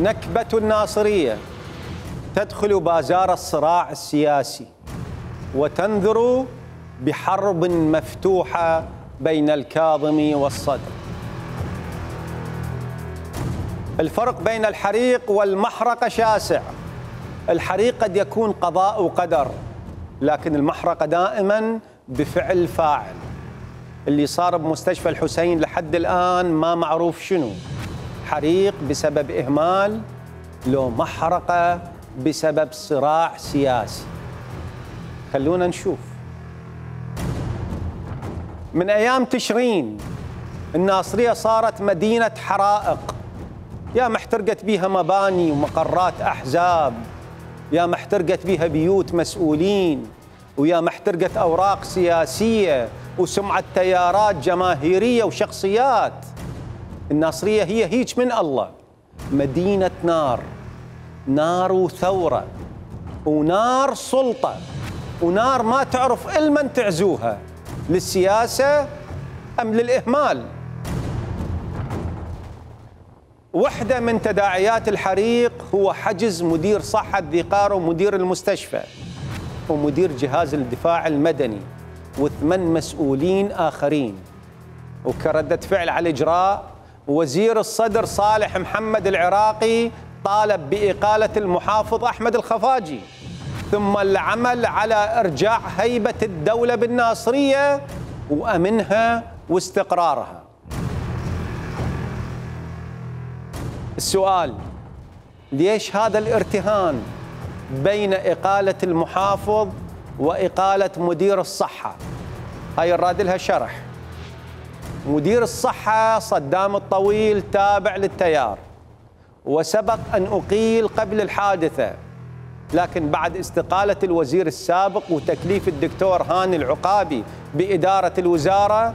نكبة الناصرية تدخل بازار الصراع السياسي وتنذر بحرب مفتوحة بين الكاظم والصدر. الفرق بين الحريق والمحرقة شاسع. الحريق قد يكون قضاء وقدر، لكن المحرقة دائما بفعل فاعل. اللي صار بمستشفى الحسين لحد الآن ما معروف شنو، حريق بسبب إهمال لو محرقة بسبب صراع سياسي. خلونا نشوف. من أيام تشرين الناصرية صارت مدينة حرائق، يا محترقت بيها مباني ومقرات أحزاب، يا محترقت بيها بيوت مسؤولين، ويا محترقت أوراق سياسية وسمعة تيارات جماهيرية وشخصيات. الناصرية هي هيج من الله، مدينة نار، نار وثورة ونار سلطة ونار ما تعرف إلمن تعزوها، للسياسة أم للإهمال. واحدة من تداعيات الحريق هو حجز مدير صحة ذي قار ومدير المستشفى ومدير جهاز الدفاع المدني و8 مسؤولين آخرين. وكردة فعل على الإجراء، وزير الصدر صالح محمد العراقي طالب بإقالة المحافظ أحمد الخفاجي، ثم العمل على إرجاع هيبة الدولة بالناصرية وأمنها واستقرارها. السؤال: ليش هذا الارتهان بين إقالة المحافظ وإقالة مدير الصحة؟ هاي الراد لها شرح. مدير الصحة صدام الطويل تابع للتيار، وسبق أن أقيل قبل الحادثة، لكن بعد استقالة الوزير السابق وتكليف الدكتور هاني العقابي بإدارة الوزارة،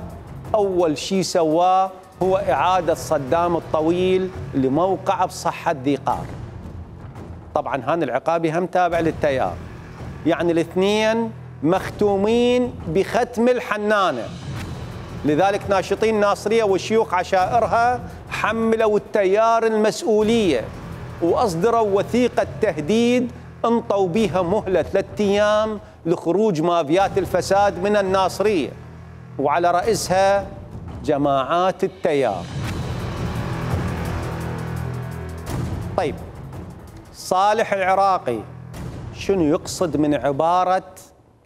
أول شيء سواه هو إعادة صدام الطويل لموقع بصحة ذي قار. طبعا هاني العقابي هم تابع للتيار، يعني الاثنين مختومين بختم الحنانة. لذلك ناشطين الناصرية وشيوخ عشائرها حملوا التيار المسؤولية وأصدروا وثيقة تهديد انطوا بها مهلة 3 أيام لخروج مافيات الفساد من الناصرية، وعلى رأسها جماعات التيار. طيب، صالح العراقي شنو يقصد من عبارة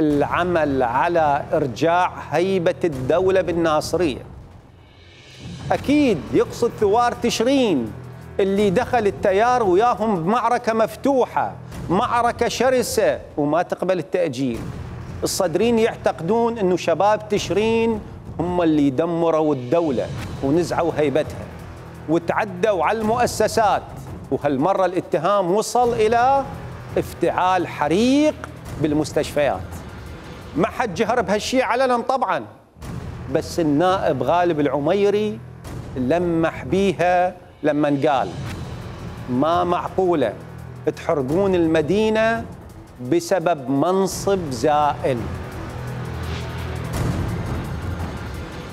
العمل على إرجاع هيبة الدولة بالناصرية؟ أكيد يقصد ثوار تشرين اللي دخل التيار وياهم بمعركة مفتوحة، معركة شرسة وما تقبل التأجيل. الصدرين يعتقدون أنه شباب تشرين هم اللي دمروا الدولة ونزعوا هيبتها وتعدوا على المؤسسات، وهالمرة الاتهام وصل إلى افتعال حريق بالمستشفيات. ما حد جهر بهالشيء علنا طبعا، بس النائب غالب العميري لمح بيها لما قال ما معقولة تحرقون المدينة بسبب منصب زائل.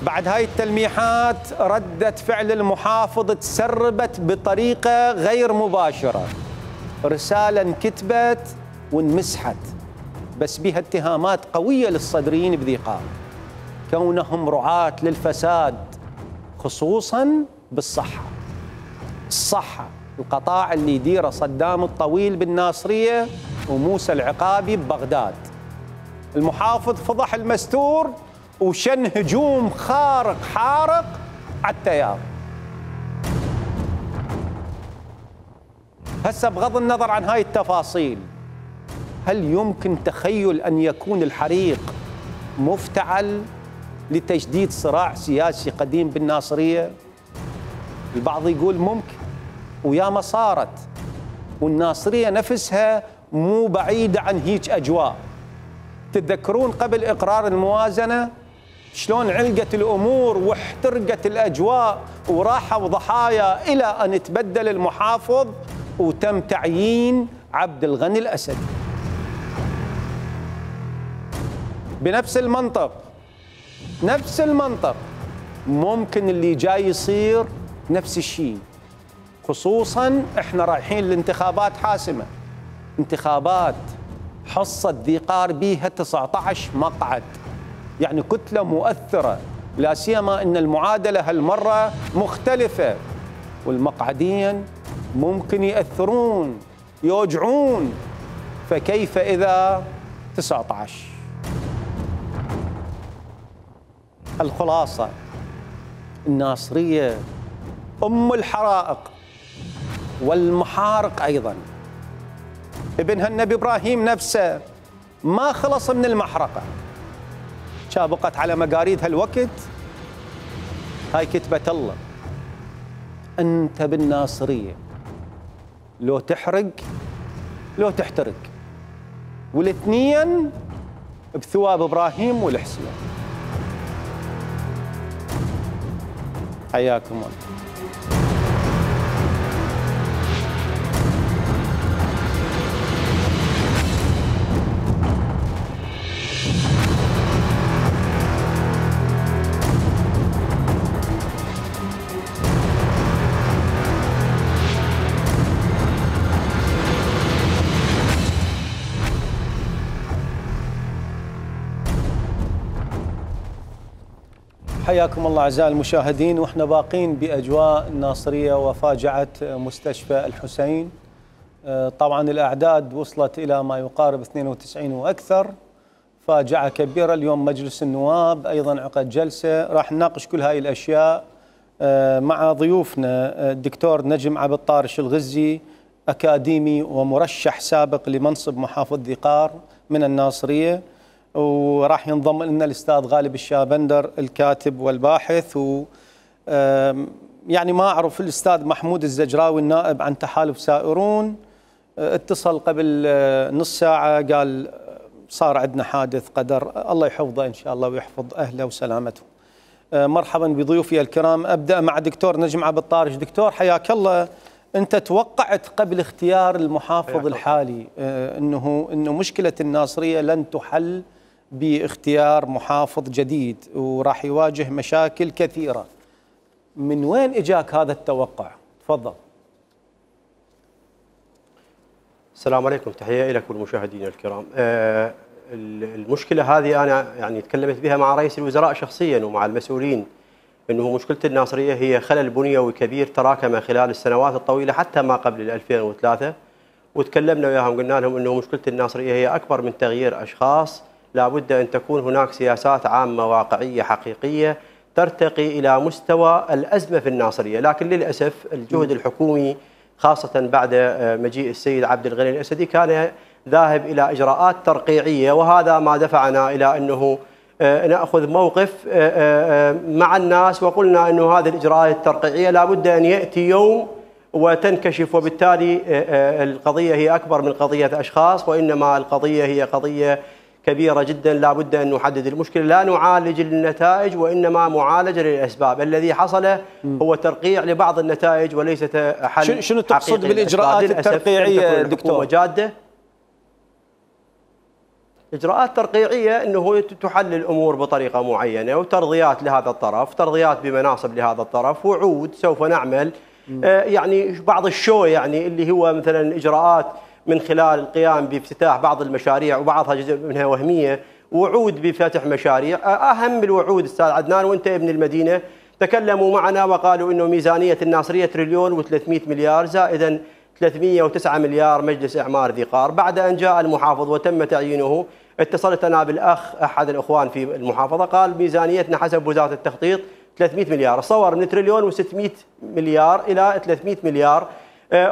بعد هاي التلميحات ردة فعل المحافظ تسربت بطريقة غير مباشرة، رسالة انكتبت وانمسحت، بس بها اتهامات قوية للصدريين بذي قار كونهم رعاة للفساد، خصوصا بالصحة. الصحة القطاع اللي يديره صدام الطويل بالناصرية وموسى العقابي ببغداد. المحافظ فضح المستور وشن هجوم خارق حارق على التيار. هسه بغض النظر عن هاي التفاصيل، هل يمكن تخيل أن يكون الحريق مفتعل لتجديد صراع سياسي قديم بالناصرية؟ البعض يقول ممكن، وياما صارت، والناصرية نفسها مو بعيدة عن هيج أجواء. تتذكرون قبل إقرار الموازنة شلون علقت الأمور واحترقت الأجواء وراحوا ضحايا إلى أن تبدل المحافظ وتم تعيين عبد الغني الأسدي. بنفس المنطق، نفس المنطق، ممكن اللي جاي يصير نفس الشيء. خصوصا احنا رايحين لانتخابات حاسمة، انتخابات حصة ذي قار بيها 19 مقعد، يعني كتلة مؤثرة، لا سيما ان المعادلة هالمرة مختلفة، والمقعدين ممكن يأثرون يوجعون، فكيف إذا 19؟ الخلاصة الناصرية أم الحرائق والمحارق أيضا. ابنها النبي إبراهيم نفسه ما خلص من المحرقة، شابقت على مقاريد هالوقت. هاي كتبة الله. أنت بالناصرية لو تحرق لو تحترق، والاثنين بثواب إبراهيم والحسين. حياكم الله. حياكم الله أعزائي المشاهدين، وإحنا باقين بأجواء الناصرية وفاجعة مستشفى الحسين. طبعا الأعداد وصلت إلى ما يقارب 92 وأكثر. فاجعة كبيرة. اليوم مجلس النواب أيضا عقد جلسة راح نناقش كل هاي الأشياء مع ضيوفنا الدكتور نجم عبد الطارش الغزي، أكاديمي ومرشح سابق لمنصب محافظ ذي قار من الناصرية، وراح ينضم لنا الأستاذ غالب الشابندر الكاتب والباحث، و يعني ما أعرف الأستاذ محمود الزجراوي النائب عن تحالف سائرون اتصل قبل نص ساعة قال صار عندنا حادث قدر، الله يحفظه إن شاء الله ويحفظ أهله وسلامته. مرحبا بضيوفي الكرام. أبدأ مع دكتور نجم عبد الطارش. دكتور حياك الله، أنت توقعت قبل اختيار المحافظ الحالي أنه مشكلة الناصرية لن تحل باختيار محافظ جديد وراح يواجه مشاكل كثيرة، من وين اجاك هذا التوقع؟ تفضل. السلام عليكم، تحية لك والمشاهدين الكرام. المشكلة هذه أنا يعني تكلمت بها مع رئيس الوزراء شخصيا ومع المسؤولين، أنه مشكلة الناصرية هي خلل بنيوي كبير تراكم خلال السنوات الطويلة حتى ما قبل 2003، وتكلمنا وياهم قلنا لهم أنه مشكلة الناصرية هي أكبر من تغيير أشخاص، لا بد أن تكون هناك سياسات عامة واقعية حقيقية ترتقي إلى مستوى الأزمة في الناصرية. لكن للأسف الجهد الحكومي خاصة بعد مجيء السيد عبد الغني الأسدي كان ذاهب إلى إجراءات ترقيعية، وهذا ما دفعنا إلى أنه نأخذ موقف مع الناس، وقلنا أنه هذه الإجراءات الترقيعية لا بد أن يأتي يوم وتنكشف، وبالتالي القضية هي أكبر من قضية أشخاص، وإنما القضية هي قضية كبيرة جدا. لا بد أن نحدد المشكلة، لا نعالج النتائج وإنما معالجة للأسباب. الذي حصل هو ترقيع لبعض النتائج وليست حل. شنو تقصد بالإجراءات الترقيعية دكتور؟ جادة إجراءات ترقيعية أنه تحل الأمور بطريقة معينة، وترضيات لهذا الطرف، ترضيات بمناصب لهذا الطرف، وعود سوف نعمل يعني بعض الشو، يعني اللي هو مثلا إجراءات من خلال القيام بافتتاح بعض المشاريع وبعضها جزء منها وهمية، وعود بفتح مشاريع. أهم الوعود أستاذ عدنان وأنت ابن المدينة تكلموا معنا وقالوا أنه ميزانية الناصرية 1,300 مليار زائدا 309 مليار مجلس إعمار ذي قار. بعد أن جاء المحافظ وتم تعيينه اتصلت أنا بالأخ أحد الأخوان في المحافظة قال ميزانيتنا حسب وزارة التخطيط 300 مليار، صور من 1,600 مليار إلى 300 مليار.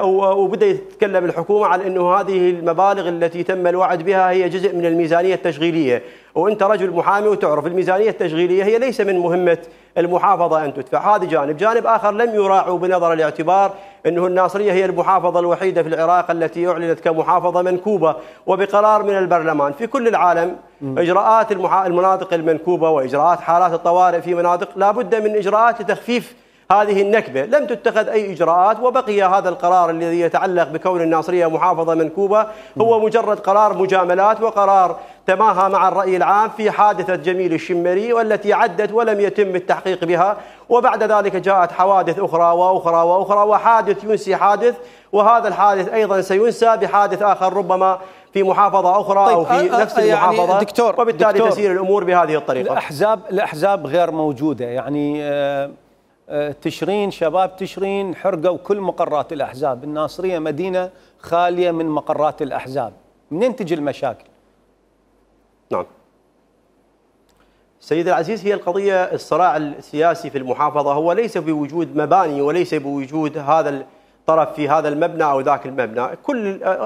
وبدأ يتكلم الحكومة عن أنه هذه المبالغ التي تم الوعد بها هي جزء من الميزانية التشغيلية، وأنت رجل محامي وتعرف الميزانية التشغيلية هي ليس من مهمة المحافظة أن تدفع. هذا جانب. جانب آخر لم يراعوا بنظر الاعتبار أنه الناصرية هي المحافظة الوحيدة في العراق التي أعلنت كمحافظة منكوبة وبقرار من البرلمان. في كل العالم إجراءات المناطق المنكوبة وإجراءات حالات الطوارئ في مناطق لا بد من إجراءات لتخفيف هذه النكبة، لم تتخذ أي إجراءات، وبقي هذا القرار الذي يتعلق بكون الناصرية محافظة منكوبة هو مجرد قرار مجاملات وقرار تماهى مع الرأي العام في حادثة جميل الشمري والتي عدت ولم يتم التحقيق بها، وبعد ذلك جاءت حوادث أخرى وأخرى وأخرى، وحادث ينسي حادث، وهذا الحادث أيضا سينسى بحادث آخر ربما في محافظة أخرى أو في نفس المحافظة. يعني دكتور وبالتالي تسير الأمور بهذه الطريقة. الأحزاب غير موجودة، يعني تشرين، شباب تشرين حرقوا كل مقرات الأحزاب. الناصرية مدينة خالية من مقرات الأحزاب، منين تجي المشاكل؟ نعم سيد العزيز، هي القضية الصراع السياسي في المحافظة هو ليس بوجود مباني وليس بوجود هذا الطرف في هذا المبنى أو ذاك المبنى.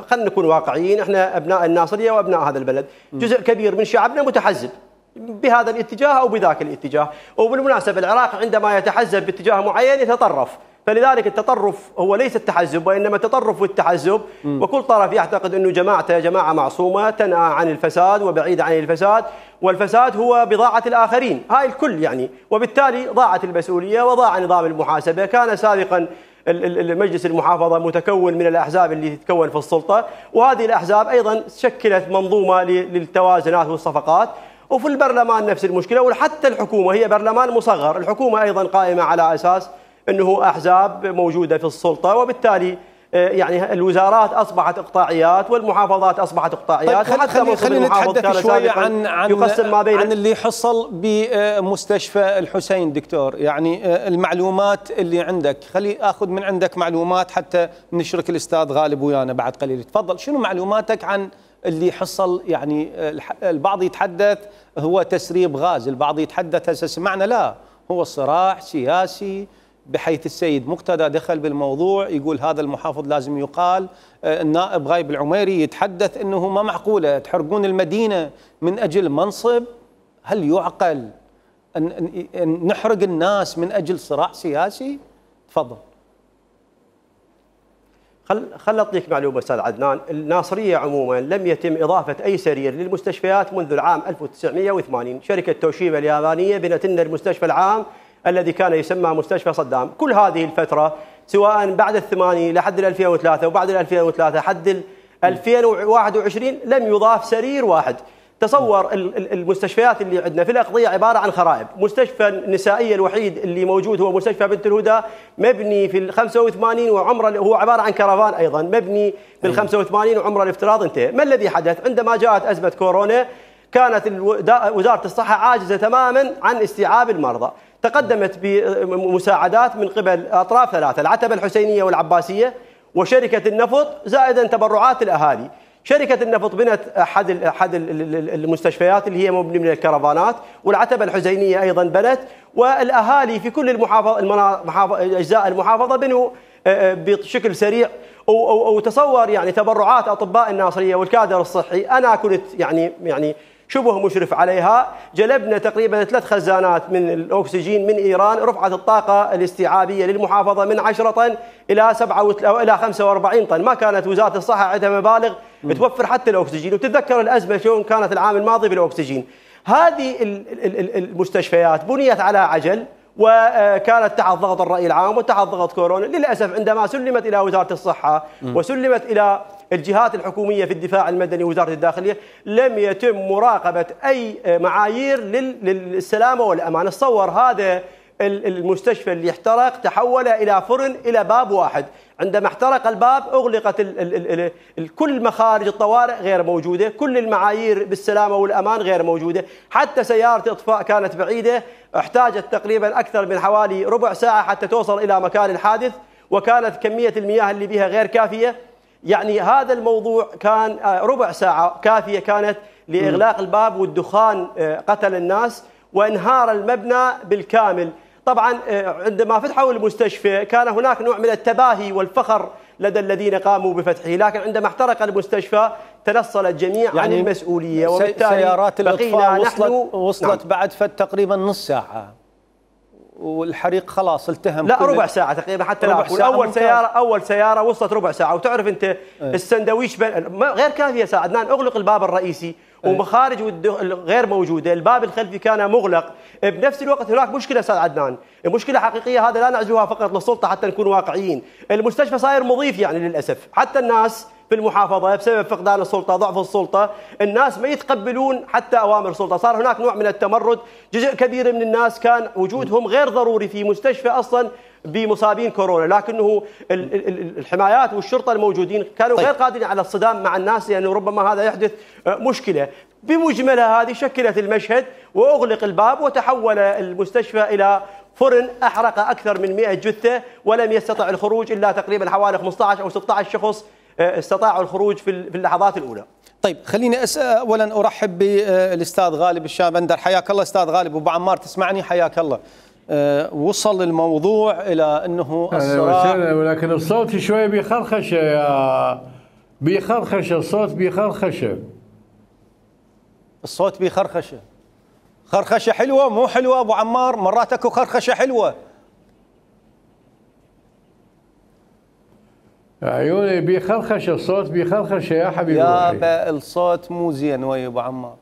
خلينا نكون واقعيين، احنا أبناء الناصرية وأبناء هذا البلد، جزء كبير من شعبنا متحزب بهذا الاتجاه أو بذاك الاتجاه، وبالمناسبة العراق عندما يتحزب باتجاه معين يتطرف، فلذلك التطرف هو ليس التحزب وإنما التطرف والتحزب، وكل طرف يعتقد أنه جماعته جماعة معصومة تنأى عن الفساد وبعيدة عن الفساد، والفساد هو بضاعة الآخرين، هاي الكل يعني، وبالتالي ضاعت المسؤولية وضاع نظام المحاسبة. كان سابقا المجلس المحافظة متكون من الأحزاب اللي تتكون في السلطة، وهذه الأحزاب أيضا شكلت منظومة للتوازنات والصفقات، وفي البرلمان نفس المشكلة، وحتى الحكومة هي برلمان مصغر، الحكومة أيضا قائمة على أساس أنه أحزاب موجودة في السلطة، وبالتالي يعني الوزارات أصبحت إقطاعيات والمحافظات أصبحت إقطاعيات. طيب خلينا نتحدث شوية عن اللي حصل بمستشفى الحسين دكتور، يعني المعلومات اللي عندك، خلي أخذ من عندك معلومات حتى نشرك الأستاذ غالب ويانا بعد قليل. تفضل، شنو معلوماتك عن اللي حصل؟ يعني البعض يتحدث هو تسريب غاز، البعض يتحدث هسه سمعنا لا هو صراع سياسي، بحيث السيد مقتدى دخل بالموضوع يقول هذا المحافظ لازم يقال. النائب غايب العميري يتحدث انه ما معقوله تحرقون المدينه من اجل منصب. هل يعقل ان نحرق الناس من اجل صراع سياسي؟ تفضل. خل أعطيك معلومة أستاذ عدنان، الناصرية عموما لم يتم إضافة أي سرير للمستشفيات منذ العام 1980. شركة توشيبا اليابانية بنت لنا المستشفى العام الذي كان يسمى مستشفى صدام. كل هذه الفترة سواء بعد الثمانين لحد 2003 وبعد 2003 حد 2021 لم يضاف سرير واحد. تصور المستشفيات اللي عندنا في الأقضية عبارة عن خرائب. مستشفى النسائية الوحيد اللي موجود هو مستشفى بنت الهدى، مبني في 85 وعمره، هو عبارة عن كرفان أيضا مبني في 85 وعمره الافتراض انتهى. ما الذي حدث؟ عندما جاءت أزمة كورونا كانت وزارة الصحة عاجزة تماما عن استيعاب المرضى، تقدمت بمساعدات من قبل أطراف ثلاثة، العتبة الحسينية والعباسية وشركة النفط زائدا تبرعات الأهالي. شركة النفط بنت أحد المستشفيات اللي هي مبني من الكرفانات، والعتبة الحسينية أيضا بنت، والأهالي في كل أجزاء المحافظة بنوا بشكل سريع. وتصور يعني تبرعات أطباء الناصرية والكادر الصحي، أنا كنت يعني شبه مشرف عليها. جلبنا تقريبا 3 خزانات من الأكسجين من إيران، رفعت الطاقة الاستيعابية للمحافظة من 10 طن إلى 45 طن. ما كانت وزارة الصحة عندها مبالغ توفر حتى الأكسجين، وتتذكر الأزمة شلون كانت العام الماضي بالأكسجين. هذه المستشفيات بنيت على عجل وكانت تحت ضغط الرأي العام وتحت ضغط كورونا. للأسف عندما سلمت إلى وزارة الصحة وسلمت إلى الجهات الحكومية في الدفاع المدني ووزارة الداخلية لم يتم مراقبة أي معايير للسلامة والأمان. تصور هذا المستشفى اللي احترق تحول إلى فرن إلى باب واحد، عندما احترق الباب أغلقت كل مخارج الطوارئ غير موجودة، كل المعايير بالسلامة والأمان غير موجودة، حتى سيارة إطفاء كانت بعيدة، احتاجت تقريبا أكثر من حوالي ربع ساعة حتى توصل إلى مكان الحادث، وكانت كمية المياه اللي بها غير كافية. يعني هذا الموضوع كان ربع ساعة كافية كانت لإغلاق الباب، والدخان قتل الناس وانهار المبنى بالكامل. طبعا عندما فتحوا المستشفى كان هناك نوع من التباهي والفخر لدى الذين قاموا بفتحه، لكن عندما احترق المستشفى تنصل الجميع يعني عن المسؤولية، وبالتالي سيارات الإطفاء وصلت نعم. بعد تقريبا نص ساعة والحريق خلاص التهم. لا ربع ساعة تقريبا، حتى لا أقول أول سيارة وصلت ربع ساعة. وتعرف أنت السندويش غير كافية ساعة عدنان، أغلق الباب الرئيسي ومخارج غير موجودة، الباب الخلفي كان مغلق. بنفس الوقت هناك مشكلة أستاذ عدنان، مشكلة حقيقية، هذا لا نعزوها فقط للسلطة حتى نكون واقعيين. المستشفى صاير مضيف يعني للأسف، حتى الناس في المحافظة بسبب فقدان السلطة، ضعف السلطة، الناس ما يتقبلون حتى أوامر السلطة، صار هناك نوع من التمرد، جزء كبير من الناس كان وجودهم غير ضروري في مستشفى أصلا بمصابين كورونا، لكنه الحمايات والشرطة الموجودين كانوا غير قادرين على الصدام مع الناس، لأنه ربما هذا يحدث مشكلة. بمجملها هذه شكلت المشهد وأغلق الباب وتحول المستشفى إلى فرن أحرق أكثر من 100 جثة، ولم يستطع الخروج إلا تقريبا حوالي 15 أو 16 شخص استطاعوا الخروج في اللحظات الأولى. طيب خليني أولا أرحب بالأستاذ غالب الشابندر. حياك الله أستاذ غالب. أبو عمار تسمعني؟ حياك الله. وصل الموضوع إلى أنه الصراع، ولكن الصوت شوي بيخرخشة الصوت بيخرخشة. الصوت بيخرخشة. خرخشة حلوة مو حلوة أبو عمار؟ مرات أكو خرخشة حلوة. عيوني بيخرخشة الصوت بيخرخشة يا حبيبي. يا الصوت مو زين ويا أبو عمار.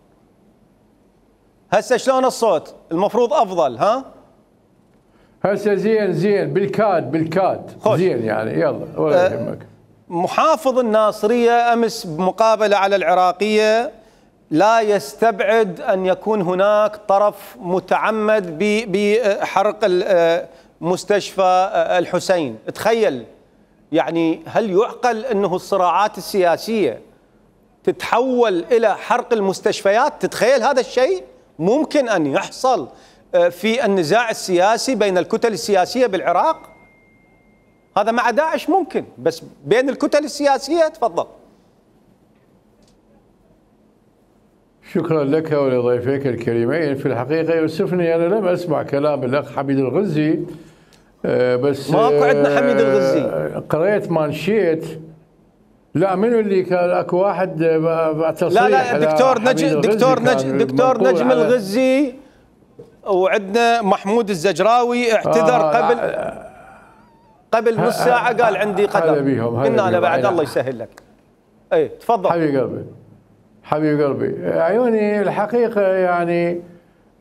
هسه شلون الصوت؟ المفروض أفضل ها؟ هسه زين بالكاد خوش. زين يعني يلا ولا يهمك. محافظ الناصرية أمس بمقابلة على العراقية لا يستبعد أن يكون هناك طرف متعمد بحرق مستشفى الحسين. تخيل يعني، هل يعقل أنه الصراعات السياسية تتحول إلى حرق المستشفيات؟ تتخيل هذا الشيء ممكن أن يحصل في النزاع السياسي بين الكتل السياسية بالعراق؟ هذا مع داعش ممكن، بس بين الكتل السياسية تفضل. شكرا لك ولضيفيك الكريمين. في الحقيقة يؤسفني أنا لم أسمع كلام الأخ حميد الغزي، بس ماكو عندنا حميد الغزي. قريت مانشيت. لا منو اللي كان؟ اكو واحد تصريح. لا دكتور نجم الغزي، وعندنا محمود الزجراوي اعتذر قبل نص ساعة، قال عندي قدر. قلنا له بعد الله يسهل لك. اي تفضل حبيب قلبي. عيوني الحقيقة يعني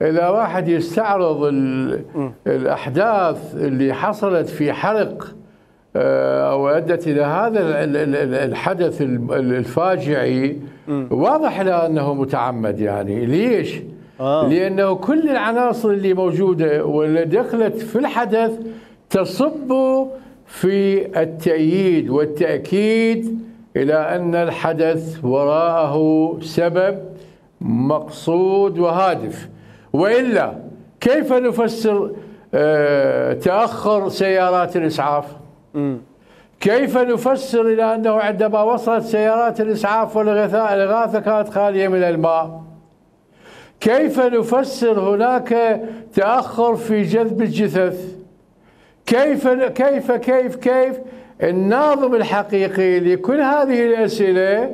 إذا واحد يستعرض الأحداث اللي حصلت في حرق أو أدت إلى هذا الحدث الفاجعي، واضح له أنه متعمد. يعني ليش؟ لأنه كل العناصر اللي موجودة واللي دخلت في الحدث تصب في التأييد والتأكيد إلى أن الحدث وراءه سبب مقصود وهادف. وإلا كيف نفسر تأخر سيارات الإسعاف؟ كيف نفسر إلى أنه عندما وصلت سيارات الإسعاف والإغاثة كانت خالية من الماء؟ كيف نفسر هناك تأخر في جذب الجثث؟ كيف الناظم الحقيقي لكل هذه الأسئلة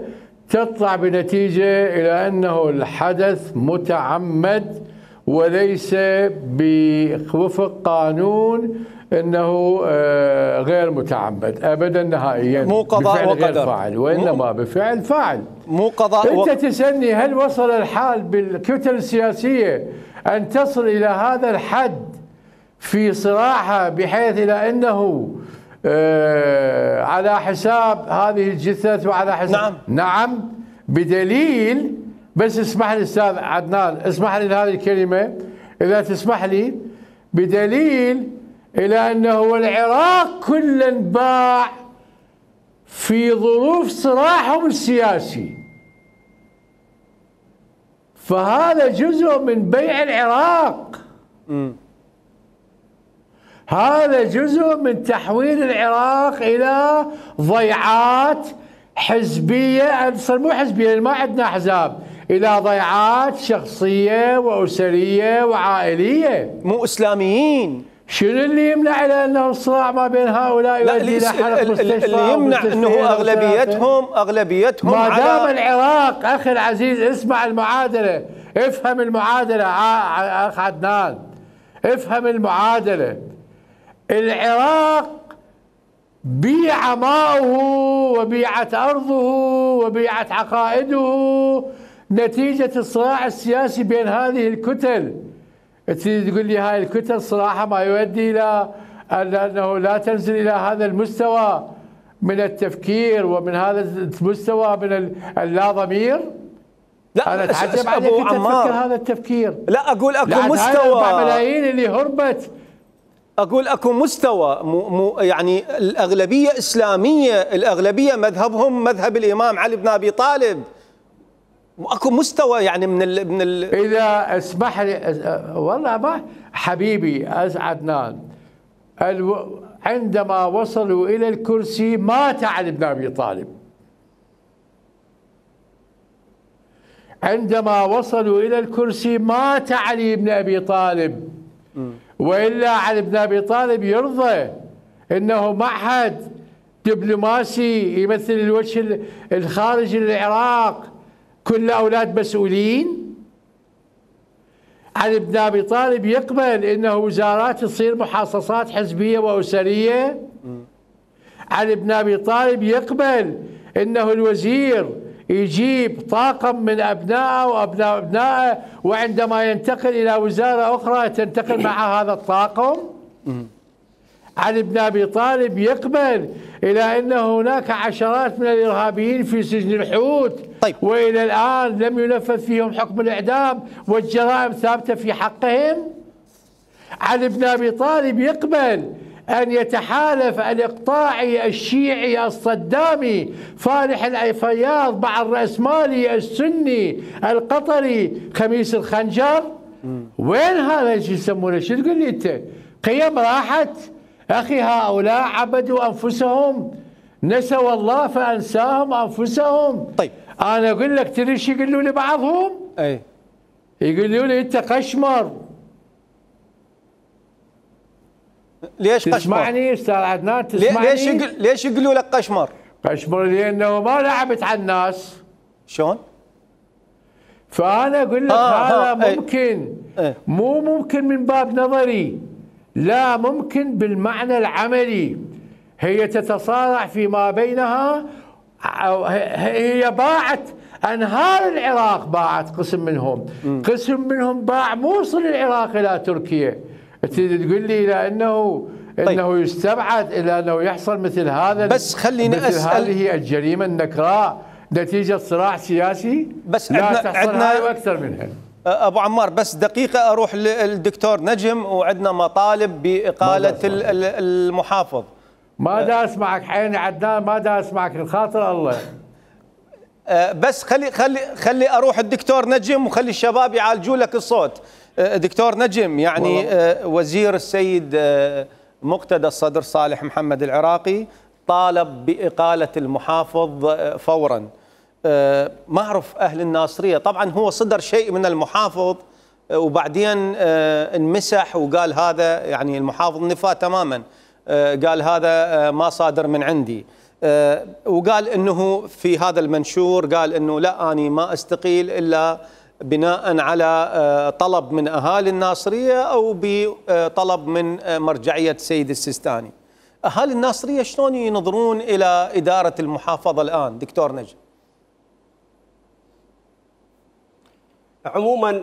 تطلع بنتيجة إلى أنه الحدث متعمد وليس بوفق قانون أنه غير متعمد أبدا نهائيا. مو قضاء وقدر، فاعل، وإنما بفعل فاعل. مو قضاء أنت تسألني هل وصل الحال بالكتل السياسية أن تصل إلى هذا الحد في صراعها بحيث إلى أنه على حساب هذه الجثث وعلى حساب نعم بدليل. بس اسمح لي أستاذ عدنان، اسمح لي هذه الكلمة إذا تسمح لي. بدليل إلى أنه العراق كله باع في ظروف صراعهم السياسي، فهذا جزء من بيع العراق. هذا جزء من تحويل العراق إلى ضيعات حزبية، مو حزبية ما عندنا أحزاب، إلى ضيعات شخصية وأسرية وعائلية، مو إسلاميين. شنو اللي يمنع إلى أنه الصراع ما بين هؤلاء يؤدي إلى حرق مستشفى؟ اللي يمنع أنه أغلبيتهم ما دام العراق أخي العزيز، اسمع المعادلة، افهم المعادلة أخ عدنان، افهم المعادلة. العراق بيع ماؤه وبيعت أرضه وبيعت عقائده نتيجة الصراع السياسي بين هذه الكتل. تقول لي هاي الكتل صراحة ما يؤدي إلى أنه لا تنزل إلى هذا المستوى من التفكير ومن هذا المستوى من اللا ضمير؟ لا انا اتعجب عليك انت تفكر هذا التفكير. لا اقول اكو مستوى 4 ملايين اللي هربت، اقول اكو مستوى يعني الاغلبيه اسلاميه، الاغلبيه مذهبهم مذهب الامام علي بن ابي طالب، واكو مستوى يعني من اذا اسمح لي والله ما حبيبي عدنان، عندما وصلوا الى الكرسي مات علي بن ابي طالب. عندما وصلوا الى الكرسي مات علي بن ابي طالب، والا علي بن ابي طالب يرضى انه معهد دبلوماسي يمثل الوجه الخارجي للعراق كل اولاد مسؤولين؟ علي بن ابي طالب يقبل انه وزارات تصير محاصصات حزبيه واسريه؟ علي بن ابي طالب يقبل انه الوزير يجيب طاقم من ابنائه وابناء ابنائه، وعندما ينتقل الى وزاره اخرى تنتقل مع هذا الطاقم؟ علي بن ابي طالب يقبل الى ان هناك عشرات من الارهابيين في سجن الحوت، طيب. والى الان لم ينفذ فيهم حكم الاعدام والجرائم ثابته في حقهم؟ علي بن ابي طالب يقبل أن يتحالف الإقطاعي الشيعي الصدامي فالح الفياض مع الرأسمالي السني القطري خميس الخنجر؟ وين هذا اللي يسمونه؟ شو تقول لي أنت؟ قيم راحت؟ أخي هؤلاء عبدوا أنفسهم، نسوا الله فأنساهم أنفسهم. طيب أنا أقول لك تدري شو يقولوا لي بعضهم؟ أي يقولوا لي أنت قشمر. ليش قشمر؟ تسمعني استاذ عدنان؟ تسمعني؟ ليش يقولوا لك قشمر؟ قشمر لانه ما لعبت على الناس. شلون؟ فانا اقول لك هذا ممكن مو ممكن من باب نظري، لا ممكن بالمعنى العملي. هي تتصارع فيما بينها، هي باعت انهار العراق، باعت قسم منهم، قسم منهم باع موصل العراق الى تركيا. تقول لي الى انه يستبعد الى انه يحصل مثل هذا، بس خليني اسال، هذه الجريمه النكراء نتيجه صراع سياسي؟ بس لا تحصل هاي واكثر منها. ابو عمار بس دقيقه اروح للدكتور نجم، وعندنا مطالب باقاله المحافظ. ما دا اسمعك عيني عدنان، ما دا اسمعك الخاطر الله. بس خلي اروح الدكتور نجم وخلي الشباب يعالجوا لك الصوت. دكتور نجم، يعني وزير السيد مقتدى الصدر صالح محمد العراقي طالب بإقالة المحافظ فورا. ما أعرف أهل الناصرية، طبعا هو صدر شيء من المحافظ وبعدين انمسح وقال هذا، يعني المحافظ نفاه تماما، قال هذا ما صادر من عندي، وقال انه في هذا المنشور قال انه لا اني ما استقيل الا بناء على طلب من اهالي الناصريه او بطلب من مرجعيه السيد السيستاني. اهالي الناصريه شلون ينظرون الى اداره المحافظه الان دكتور نجم؟ عموما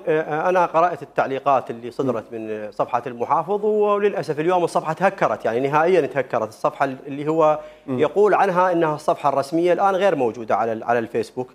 انا قرات التعليقات اللي صدرت من صفحه المحافظ، وللاسف اليوم الصفحه تهكرت، يعني نهائيا تهكرت. الصفحه اللي هو يقول عنها انها الصفحه الرسميه الان غير موجوده على الفيسبوك.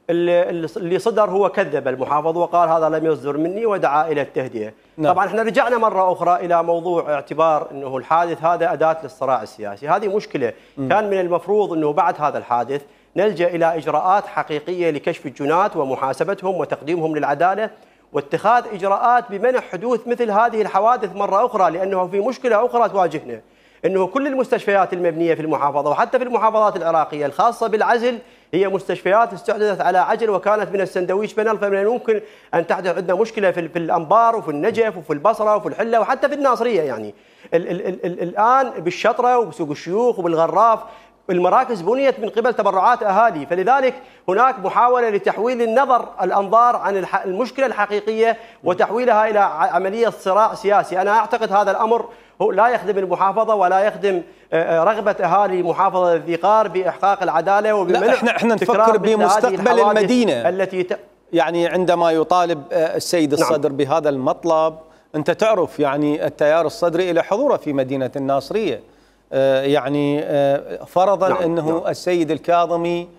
اللي صدر هو كذب المحافظ وقال هذا لم يصدر مني ودعا الى التهدئه. طبعا احنا رجعنا مره اخرى الى موضوع اعتبار انه الحادث هذا اداه للصراع السياسي، هذه مشكله. كان من المفروض انه بعد هذا الحادث نلجأ إلى إجراءات حقيقية لكشف الجنات ومحاسبتهم وتقديمهم للعدالة، واتخاذ إجراءات بمنع حدوث مثل هذه الحوادث مرة أخرى، لأنه في مشكلة أخرى تواجهنا، أنه كل المستشفيات المبنية في المحافظة وحتى في المحافظات العراقية الخاصة بالعزل هي مستشفيات استحدثت على عجل وكانت من السندويش بنل، فمن الممكن أن تحدث عندنا مشكلة في الأنبار وفي النجف وفي البصرة وفي الحلة وحتى في الناصرية. يعني الآن بالشطرة وبسوق الشيوخ وبالغراف المراكز بنيت من قبل تبرعات أهالي، فلذلك هناك محاولة لتحويل الأنظار عن المشكلة الحقيقية وتحويلها إلى عملية صراع سياسي. أنا أعتقد هذا الأمر لا يخدم المحافظة ولا يخدم رغبة أهالي محافظة الذقار بإحقاق العدالة وبمنع احنا نفكر بمستقبل المدينة التي يعني عندما يطالب السيد الصدر بهذا المطلب، أنت تعرف يعني التيار الصدري إلى حضوره في مدينة الناصرية، يعني فرضا نعم أنه نعم. السيد الكاظمي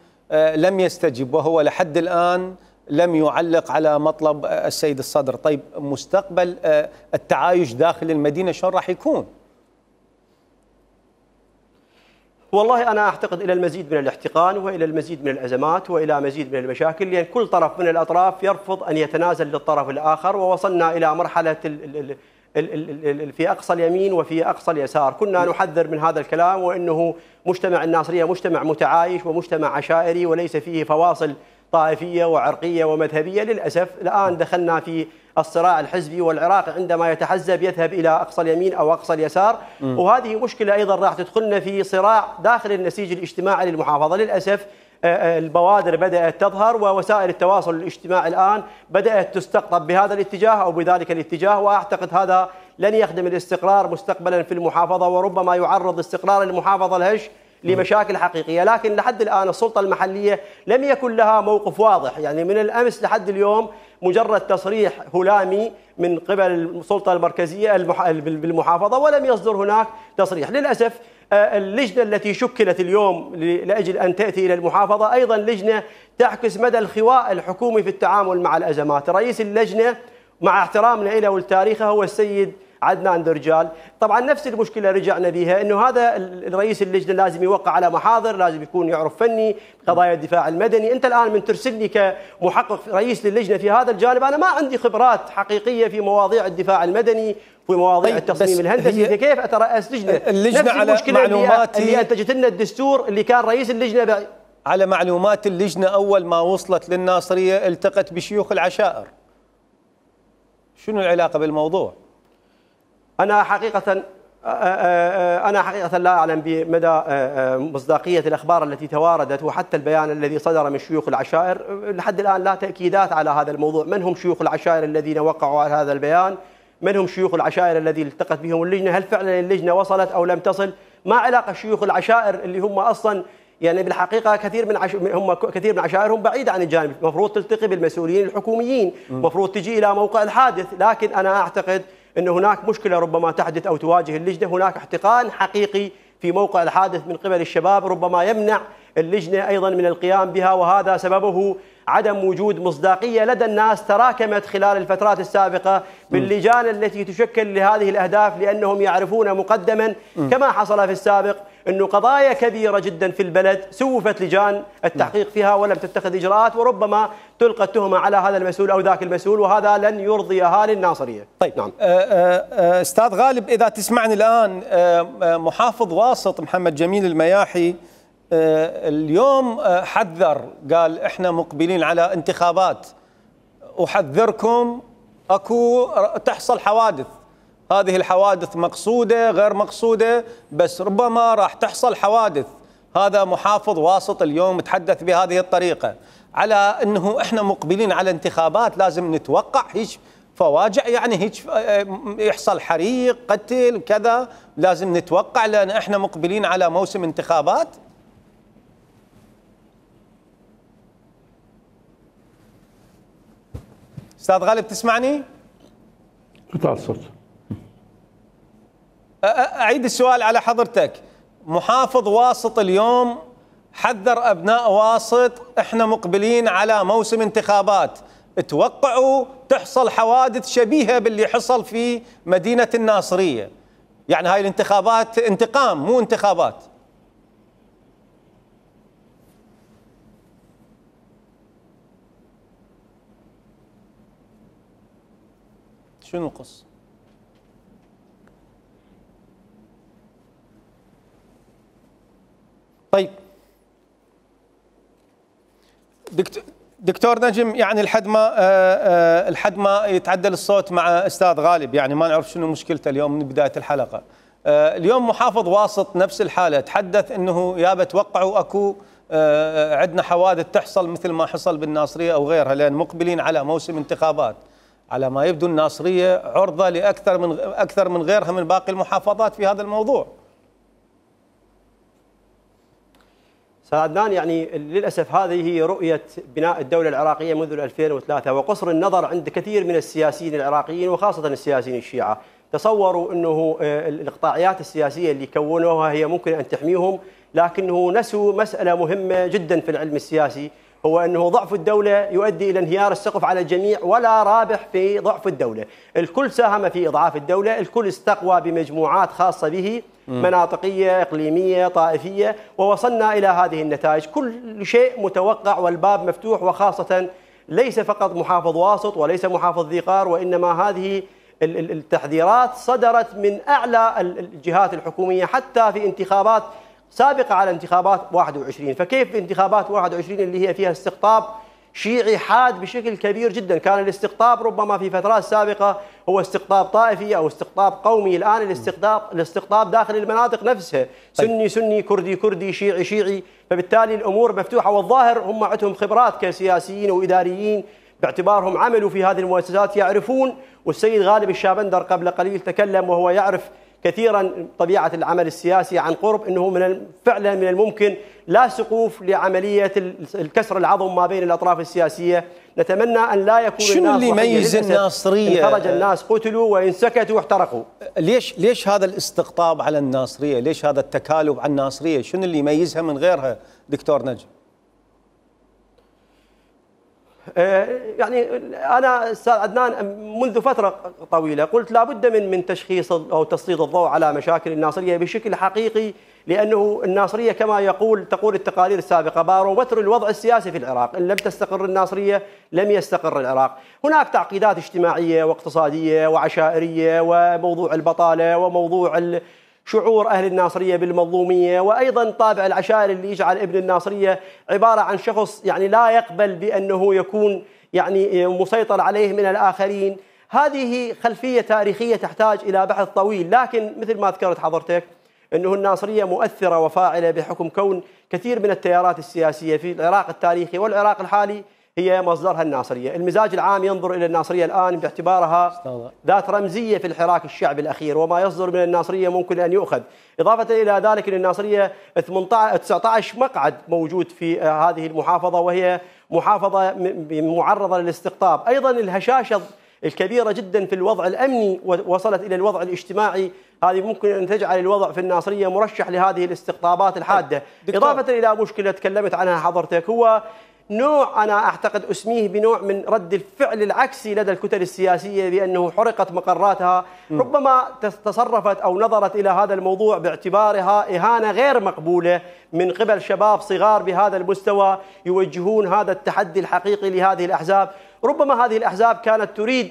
لم يستجب وهو لحد الآن لم يعلق على مطلب السيد الصدر. طيب مستقبل التعايش داخل المدينة شلون راح يكون؟ والله أنا أعتقد إلى المزيد من الاحتقان وإلى المزيد من الأزمات وإلى مزيد من المشاكل، لأن كل طرف من الأطراف يرفض أن يتنازل للطرف الآخر، ووصلنا إلى مرحلة في أقصى اليمين وفي أقصى اليسار. كنا نحذر من هذا الكلام، وأنه مجتمع الناصرية مجتمع متعايش ومجتمع عشائري وليس فيه فواصل طائفية وعرقية ومذهبية. للأسف الآن دخلنا في الصراع الحزبي، والعراق عندما يتحزب يذهب إلى أقصى اليمين أو أقصى اليسار، وهذه مشكلة أيضا راح تدخلنا في صراع داخل النسيج الاجتماعي للمحافظة. للأسف البوادر بدأت تظهر، ووسائل التواصل الاجتماعي الآن بدأت تستقطب بهذا الاتجاه أو بذلك الاتجاه، وأعتقد هذا لن يخدم الاستقرار مستقبلا في المحافظة، وربما يعرض استقرار المحافظة الهش لمشاكل حقيقية. لكن لحد الآن السلطة المحلية لم يكن لها موقف واضح، يعني من الأمس لحد اليوم مجرد تصريح هلامي من قبل السلطة المركزية بالمحافظة، ولم يصدر هناك تصريح. للأسف اللجنة التي شكلت اليوم لأجل أن تأتي إلى المحافظة أيضا لجنة تعكس مدى الخواء الحكومي في التعامل مع الأزمات. رئيس اللجنة مع احترامنا له ولتاريخه هو السيد عدنان درجال. طبعا نفس المشكله رجعنا بها، انه هذا الرئيس اللجنه لازم يوقع على محاضر، لازم يكون يعرف فني قضايا الدفاع المدني. انت الان من ترسلني كمحقق رئيس للجنه في هذا الجانب، انا ما عندي خبرات حقيقيه في مواضيع الدفاع المدني في مواضيع التصميم الهندسي، فكيف اترأس لجنه؟ اللجنه على معلوماتي اللي انتجت لنا الدستور اللي كان رئيس اللجنه على معلومات اللجنه اول ما وصلت للناصريه التقت بشيوخ العشائر. شنو العلاقه بالموضوع؟ أنا حقيقة لا أعلم بمدى مصداقية الأخبار التي تواردت، وحتى البيان الذي صدر من شيوخ العشائر لحد الآن لا تأكيدات على هذا الموضوع. من هم شيوخ العشائر الذين وقعوا على هذا البيان؟ من هم شيوخ العشائر الذي التقت بهم اللجنة؟ هل فعلا اللجنة وصلت أو لم تصل؟ ما علاقة شيوخ العشائر اللي هم أصلا يعني بالحقيقة كثير من عشائرهم بعيدة عن الجانب، المفروض تلتقي بالمسؤولين الحكوميين، المفروض تجي إلى موقع الحادث. لكن أنا أعتقد أن هناك مشكلة ربما تحدث أو تواجه اللجنة، هناك احتقان حقيقي في موقع الحادث من قبل الشباب ربما يمنع اللجنة أيضا من القيام بها، وهذا سببه عدم وجود مصداقية لدى الناس تراكمت خلال الفترات السابقة باللجان التي تشكل لهذه الأهداف، لأنهم يعرفون مقدما كما حصل في السابق أنه قضايا كبيرة جدا في البلد سوفت لجان التحقيق فيها ولم تتخذ إجراءات، وربما تلقى التهمة على هذا المسؤول أو ذاك المسؤول، وهذا لن يرضي أهالي الناصرية. طيب نعم. أستاذ غالب إذا تسمعني الآن، محافظ واسط محمد جميل المياحي اليوم حذر، قال احنا مقبلين على انتخابات، أحذركم أكو تحصل حوادث، هذه الحوادث مقصودة غير مقصودة بس ربما راح تحصل حوادث. هذا محافظ واسط اليوم تحدث بهذه الطريقة على أنه إحنا مقبلين على انتخابات، لازم نتوقع هيك فواجع، يعني هيك يحصل حريق قتل كذا، لازم نتوقع لأن إحنا مقبلين على موسم انتخابات. أستاذ غالب تسمعني؟ قطع الصوت. أعيد السؤال على حضرتك. محافظ واسط اليوم حذر أبناء واسط إحنا مقبلين على موسم انتخابات، توقعوا تحصل حوادث شبيهة باللي حصل في مدينة الناصرية، يعني هاي الانتخابات انتقام مو انتخابات. شنو القصة؟ طيب دكتور نجم، يعني لحد ما يتعدل الصوت مع استاذ غالب، يعني ما نعرف شنو مشكلته اليوم من بدايه الحلقه. اليوم محافظ واسط نفس الحاله، تحدث انه يابا توقعوا اكو عندنا حوادث تحصل مثل ما حصل بالناصريه او غيرها، لان مقبلين على موسم انتخابات. على ما يبدو الناصريه عرضه لاكثر من غيرها من باقي المحافظات في هذا الموضوع. عدنان، يعني للأسف هذه هي رؤية بناء الدولة العراقية منذ 2003 وقصر النظر عند كثير من السياسيين العراقيين وخاصة السياسيين الشيعة. تصوروا أنه الإقطاعيات السياسية اللي كونوها هي ممكن أن تحميهم، لكنه نسوا مسألة مهمة جدا في العلم السياسي، هو أنه ضعف الدولة يؤدي إلى انهيار السقف على الجميع ولا رابح في ضعف الدولة. الكل ساهم في إضعاف الدولة، الكل استقوى بمجموعات خاصة به، مناطقية، إقليمية، طائفية، ووصلنا إلى هذه النتائج. كل شيء متوقع والباب مفتوح، وخاصة ليس فقط محافظ واسط وليس محافظ ذي قار، وإنما هذه التحذيرات صدرت من أعلى الجهات الحكومية حتى في انتخابات سابقة على انتخابات 21. فكيف انتخابات 21 اللي هي فيها استقطاب شيعي حاد بشكل كبير جدا؟ كان الاستقطاب ربما في فترات سابقة هو استقطاب طائفي أو استقطاب قومي، الآن الاستقطاب داخل المناطق نفسها، سني سني، كردي كردي، شيعي شيعي، فبالتالي الأمور مفتوحة. والظاهر هم عندهم خبرات كسياسيين وإداريين باعتبارهم عملوا في هذه المؤسسات، يعرفون. والسيد غالب الشابندر قبل قليل تكلم وهو يعرف كثيرا طبيعة العمل السياسي عن قرب، أنه فعلا من الممكن لا سقوف لعملية الكسر العظم ما بين الأطراف السياسية. نتمنى أن لا يكون شنو الناس اللي يميز الناصرية؟ خرج الناس قتلوا وإن سكتوا احترقوا. ليش هذا الاستقطاب على الناصرية؟ ليش هذا التكالب على الناصرية؟ شنو اللي يميزها من غيرها دكتور نجم؟ يعني أنا أستاذ عدنان منذ فترة طويلة قلت لابد من تشخيص أو تسليط الضوء على مشاكل الناصرية بشكل حقيقي، لأنه تقول التقارير السابقة بارومتر الوضع السياسي في العراق. إن لم تستقر الناصرية لم يستقر العراق. هناك تعقيدات اجتماعية واقتصادية وعشائرية، وموضوع البطالة، وموضوع شعور أهل الناصرية بالمظلومية، وأيضا طابع العشائر اللي يجعل ابن الناصرية عبارة عن شخص يعني لا يقبل بأنه يكون يعني مسيطر عليه من الآخرين. هذه خلفية تاريخية تحتاج إلى بحث طويل، لكن مثل ما ذكرت حضرتك أنه الناصرية مؤثرة وفاعلة بحكم كون كثير من التيارات السياسية في العراق التاريخي والعراق الحالي هي مصدرها الناصرية. المزاج العام ينظر إلى الناصرية الآن باعتبارها ذات رمزية في الحراك الشعبي الأخير، وما يصدر من الناصرية ممكن أن يؤخذ. إضافة إلى ذلك أن الناصرية 19 مقعد موجود في هذه المحافظة، وهي محافظة معرضة للاستقطاب. أيضا الهشاشة الكبيرة جدا في الوضع الأمني وصلت إلى الوضع الاجتماعي، هذه ممكن أن تجعل الوضع في الناصرية مرشح لهذه الاستقطابات الحادة. إضافة إلى مشكلة تكلمت عنها حضرتك، هو نوع أنا أعتقد أسميه بنوع من رد الفعل العكسي لدى الكتل السياسية، بأنه حرقت مقراتها. ربما تصرفت أو نظرت إلى هذا الموضوع باعتبارها إهانة غير مقبولة من قبل شباب صغار بهذا المستوى يوجهون هذا التحدي الحقيقي لهذه الأحزاب. ربما هذه الأحزاب كانت تريد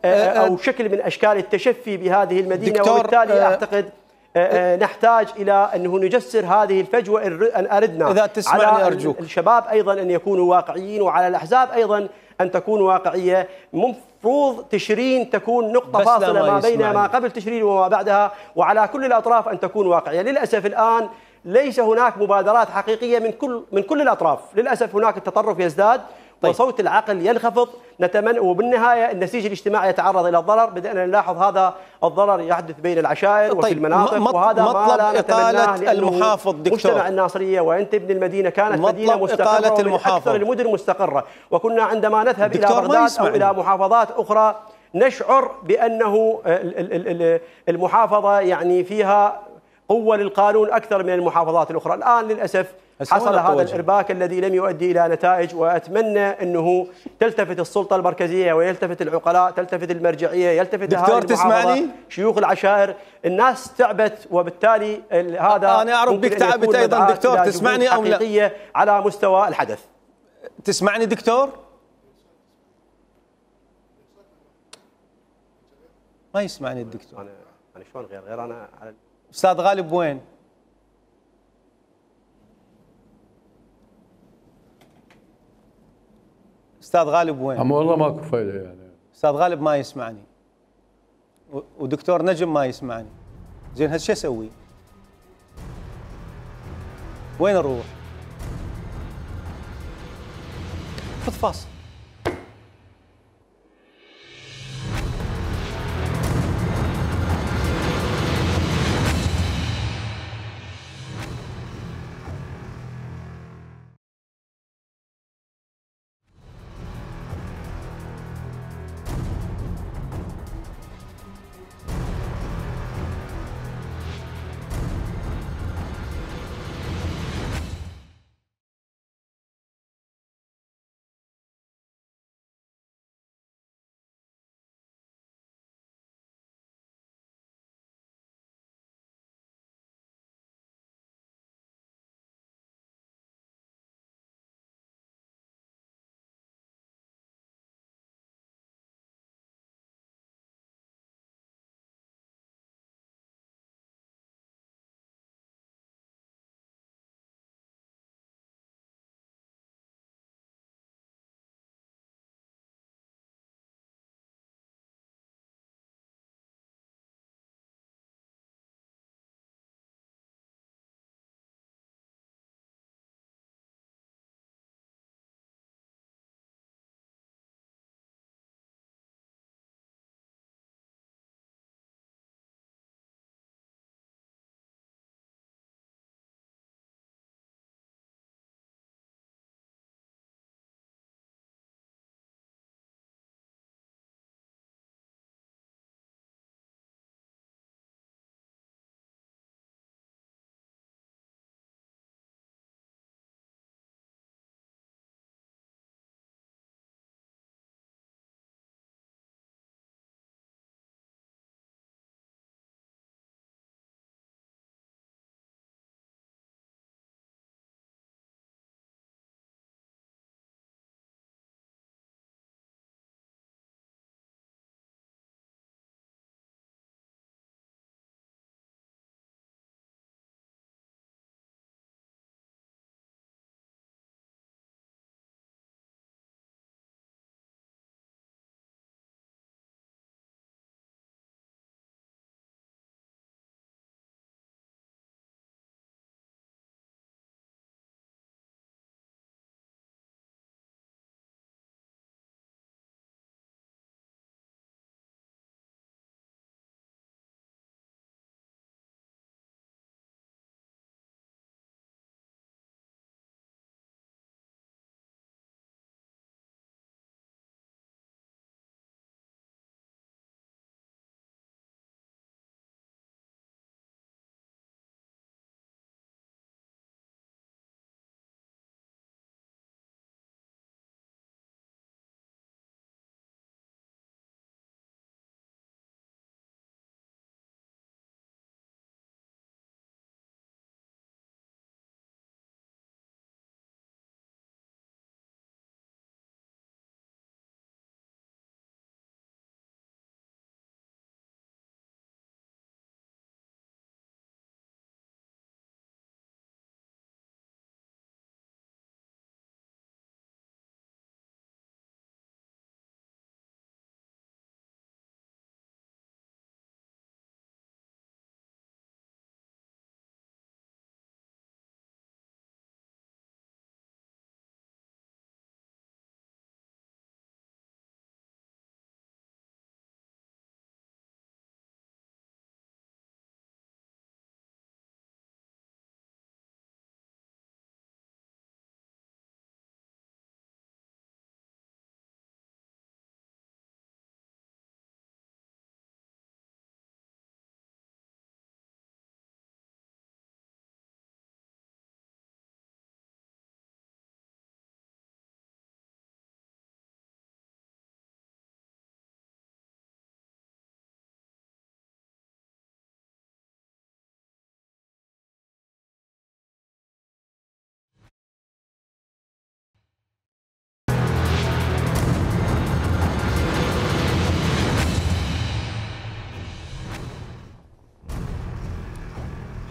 أو شكل من أشكال التشفي بهذه المدينة، وبالتالي أعتقد نحتاج إلى أنه نجسر هذه الفجوة إن أردنا. إذا تسمعني على أرجوك. الشباب أيضا أن يكونوا واقعيين، وعلى الأحزاب أيضا أن تكون واقعية. مفروض تشرين تكون نقطة فاصلة ما بين ما قبل تشرين وما بعدها، وعلى كل الأطراف أن تكون واقعية. للأسف الآن ليس هناك مبادرات حقيقية من كل الأطراف. للأسف هناك التطرف يزداد وصوت العقل ينخفض. نتمنى، وبالنهاية النسيج الاجتماعي يتعرض إلى الضرر. بدأنا نلاحظ هذا الضرر يحدث بين العشائر وفي المناطق، وهذا ما لا نتمناه، المحافظ دكتور. مجتمع الناصرية وأنت ابن المدينة كانت مدينة مستقرة ومن أكثر المدن مستقرة، وكنا عندما نذهب إلى بغداد أو إلى محافظات أخرى نشعر بأنه المحافظة يعني فيها قوة للقانون أكثر من المحافظات الأخرى. الآن للأسف حصل هذا الإرباك الذي لم يؤدي إلى نتائج، وأتمنى أنه تلتفت السلطة المركزية ويلتفت العقلاء، تلتفت المرجعية، يلتفت دكتور تسمعني؟ شيوخ العشائر. الناس تعبت، وبالتالي هذا أنا أعرف بك تعبت أيضا. دكتور تسمعني أو لا؟ على مستوى الحدث. تسمعني دكتور؟ ما يسمعني الدكتور. أنا شلون غير أنا على أستاذ غالب وين؟ أستاذ غالب وين؟ أما والله ماكو فايدة يعني. أستاذ غالب ما يسمعني ودكتور نجم ما يسمعني. زين هذا شو أسوي؟ وين نروح؟ خذ فاصل.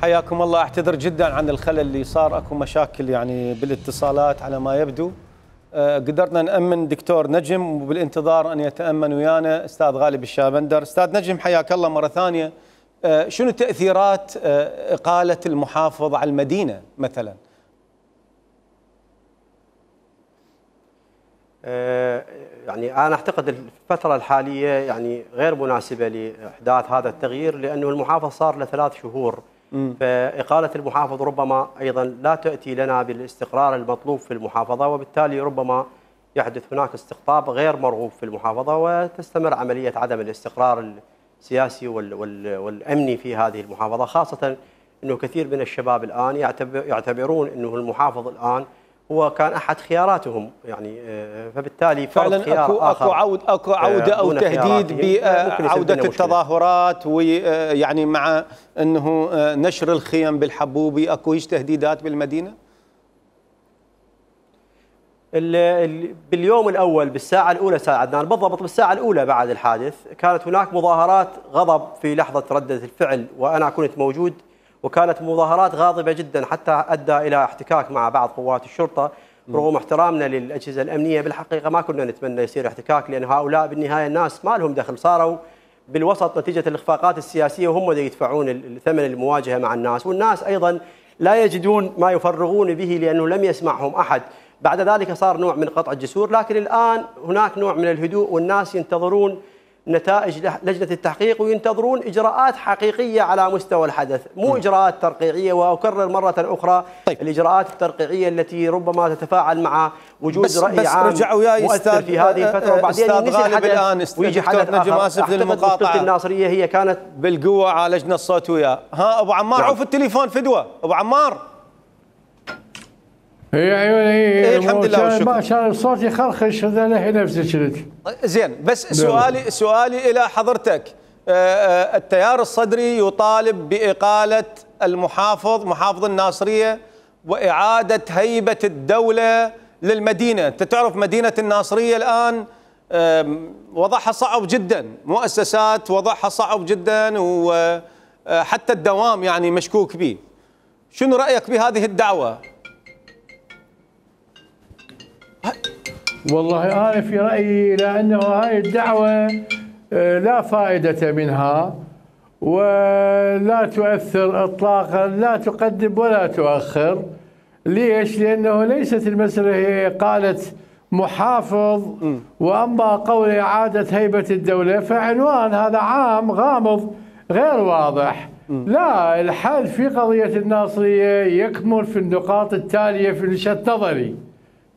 حياكم الله. اعتذر جدا عن الخلل اللي صار، اكو مشاكل يعني بالاتصالات على ما يبدو. قدرنا نأمن دكتور نجم، وبالانتظار ان يتأمن ويانا استاذ غالب الشابندر. استاذ نجم حياك الله مرة ثانية. شنو تأثيرات إقالة المحافظ على المدينة مثلا؟ يعني أنا أعتقد الفترة الحالية يعني غير مناسبة لإحداث هذا التغيير، لأنه المحافظ صار له 3 شهور. فإقالة المحافظ ربما أيضا لا تأتي لنا بالاستقرار المطلوب في المحافظة، وبالتالي ربما يحدث هناك استقطاب غير مرغوب في المحافظة، وتستمر عملية عدم الاستقرار السياسي والأمني في هذه المحافظة، خاصة أنه كثير من الشباب الآن يعتبرون أنه المحافظ الآن هو كان أحد خياراتهم، يعني فبالتالي فعلا اكو عودة أو تهديد بعودة التظاهرات، ويعني مع أنه نشر الخيم بالحبوبي، اكو هيش تهديدات بالمدينة؟ باليوم الأول بالساعة الأولى أستاذ عدنان، بالضبط بالساعة الأولى بعد الحادث كانت هناك مظاهرات غضب في لحظة ردة الفعل، وأنا كنت موجود، وكانت مظاهرات غاضبة جدا حتى أدى إلى احتكاك مع بعض قوات الشرطة. رغم احترامنا للأجهزة الأمنية بالحقيقة ما كنا نتمنى يصير احتكاك، لأن هؤلاء بالنهاية الناس ما لهم دخل، صاروا بالوسط نتيجة الإخفاقات السياسية، وهم اللي يدفعون الثمن المواجهة مع الناس، والناس أيضا لا يجدون ما يفرغون به لأنه لم يسمعهم أحد. بعد ذلك صار نوع من قطع الجسور، لكن الآن هناك نوع من الهدوء، والناس ينتظرون نتائج لجنة التحقيق، وينتظرون إجراءات حقيقية على مستوى الحدث، مو إجراءات ترقيعية. وأكرر مرة أخرى الإجراءات الترقيعية التي ربما تتفاعل مع وجود رأي عام مؤثر في هذه الفترة، وبعدين ينسي الحدث ويجي حدث آخر. أعتقد الناصرية هي كانت بالقوة عالجنا الصوت وياه. ها أبو عمار، عوف التليفون فدوة أبو عمار. يا عيوني الحمد لله والشكر. ما شاء الله الصوت يخرخش، هذا له نفسه شلت. زين، بس سؤالي الى حضرتك. التيار الصدري يطالب بإقالة محافظ الناصرية وإعادة هيبة الدولة للمدينة. انت تعرف مدينة الناصرية الآن وضعها صعب جدا، مؤسسات وضعها صعب جدا، وحتى الدوام يعني مشكوك به. شنو رأيك بهذه الدعوة؟ والله أنا في رأيي لأنه هاي الدعوة لا فائدة منها ولا تؤثر إطلاقا، لا تقدم ولا تؤخر. ليش؟ لأنه ليست المسألة هي إقالة محافظ، وأما قول إعادة هيبة الدولة فعنوان هذا عام غامض غير واضح. لا، الحل في قضية الناصرية يكمن في النقاط التالية في وجهة نظري.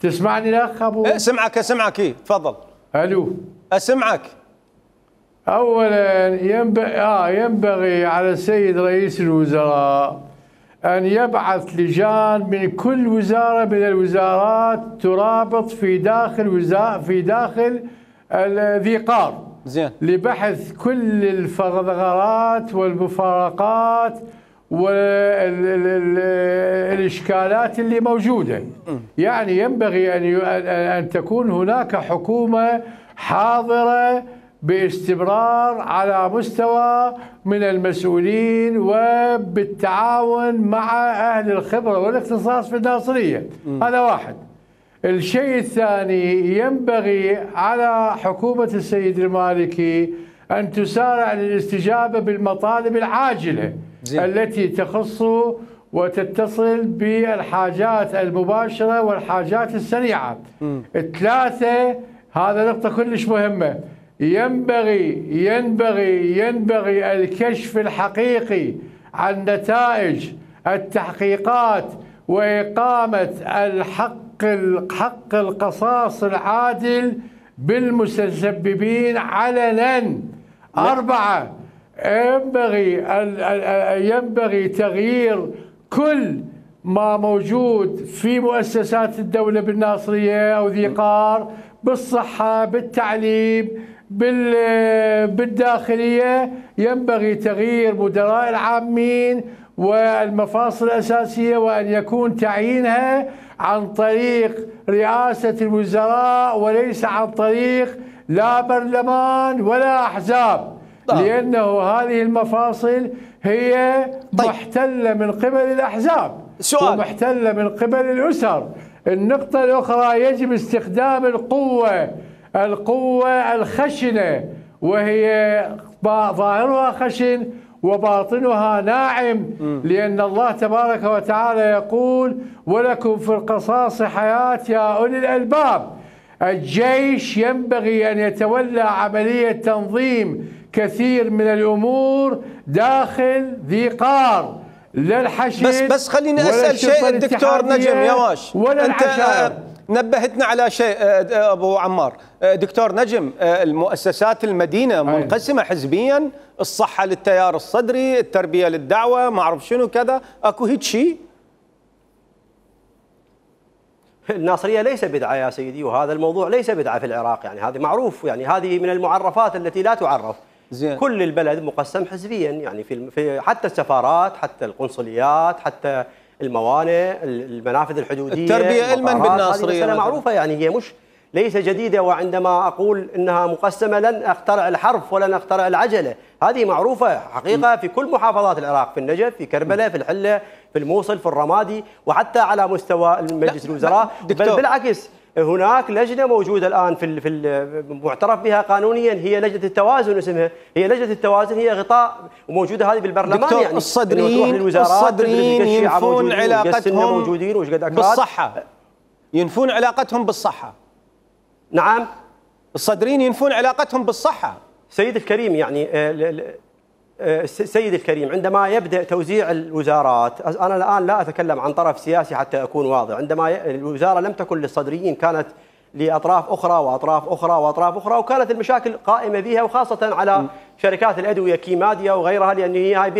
تسمعني الأخ أبو؟ أسمعك تفضل. ألو، أسمعك. أولا ينبغي على السيد رئيس الوزراء أن يبعث لجان من كل وزارة من الوزارات ترابط في داخل ذي قار، زين، لبحث كل الثغرات والمفارقات والإشكالات اللي موجودة. يعني ينبغي أن تكون هناك حكومة حاضرة باستمرار على مستوى من المسؤولين وبالتعاون مع أهل الخبرة والاختصاص في الناصرية. هذا واحد. الشيء الثاني، ينبغي على حكومة السيد المالكي أن تسارع للاستجابة بالمطالب العاجلة التي تخص وتتصل بالحاجات المباشرة والحاجات السريعة. 3، هذا نقطة كلش مهمة، ينبغي الكشف الحقيقي عن نتائج التحقيقات وإقامة حق القصاص العادل بالمتسببين علنا. 4، ينبغي تغيير كل ما موجود في مؤسسات الدولة بالناصرية أو ذي قار، بالصحة، بالتعليم، بالداخلية. ينبغي تغيير مدراء العامين والمفاصل الأساسية، وأن يكون تعيينها عن طريق رئاسة الوزراء وليس عن طريق لا برلمان ولا أحزاب، لأنه هذه المفاصل هي محتلة من قبل الأحزاب، سؤال ومحتلة من قبل الأسر. النقطة الأخرى، يجب استخدام القوة الخشنة، وهي ظاهرها خشن وباطنها ناعم، لأن الله تبارك وتعالى يقول: ولكم في القصاص حياة يا أولي الألباب. الجيش ينبغي أن يتولى عملية تنظيم كثير من الأمور داخل ذي قار، لا الحشد. بس خليني أسأل شيء الدكتور نجم يواش، أنت نبهتنا على شيء أبو عمار. دكتور نجم، المؤسسات المدينة منقسمة حزبيا، الصحة للتيار الصدري، التربية للدعوة، ما أعرف شنو كذا، أكو هيك شيء؟ الناصرية ليس بدعة يا سيدي، وهذا الموضوع ليس بدعة في العراق، يعني هذه معروف، يعني هذه من المعرفات التي لا تعرف. زين. كل البلد مقسم حزبيا، يعني في حتى السفارات، حتى القنصليات، حتى الموانئ، المنافذ الحدودية، التربية علما بالناصرية، هذه معروفة، يعني هي مش ليس جديدة. وعندما أقول إنها مقسمة لن أخترع الحرف ولن أخترع العجلة، هذه معروفة حقيقة في كل محافظات العراق، في النجف، في كربلاء، في الحلة، في الموصل، في الرمادي، وحتى على مستوى مجلس الوزراء. بل بالعكس، هناك لجنة موجودة الآن في معترف بها قانونيا، هي لجنة التوازن اسمها، هي لجنة التوازن، هي غطاء وموجودة هذه بالبرلمان. يعني الصدريين ينفون علاقتهم بالصحة، ينفون علاقتهم بالصحة. نعم، الصدريين ينفون علاقتهم بالصحة. سيد الكريم، يعني سيد الكريم، عندما يبدأ توزيع الوزارات، أنا الآن لا أتكلم عن طرف سياسي حتى أكون واضح، عندما الوزارة لم تكن للصدريين، كانت لأطراف أخرى وأطراف أخرى وأطراف أخرى، وكانت المشاكل قائمة بها، وخاصة على شركات الأدوية كيماديا وغيرها، لأن هي